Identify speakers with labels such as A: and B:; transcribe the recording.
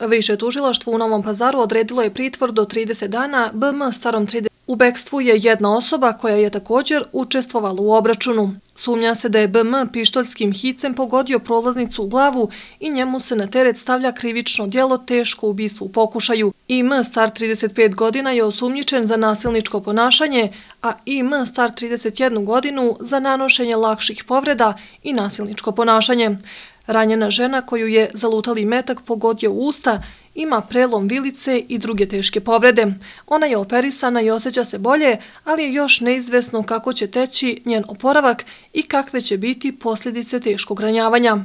A: Više tužilaštvo u Novom Pazaru odredilo je pritvor do 30 dana BM starom 30. U bekstvu je jedna osoba koja je također učestvovala u obračunu. Sumnja se da je BM pištoljskim hicem pogodio prolaznicu u glavu i njemu se na teret stavlja krivično djelo teško ubistvo u pokušaju. IM star 35 godina je osumnjičen za nasilničko ponašanje, a IM star 31 godinu za nanošenje lakših povreda i nasilničko ponašanje. Ranjena žena koju je zalutali metak pogodio u usta ima prelom vilice i druge teške povrede. Ona je operisana i osjeća se bolje, ali je još neizvesno kako će teći njen oporavak i kakve će biti posljedice teškog ranjavanja.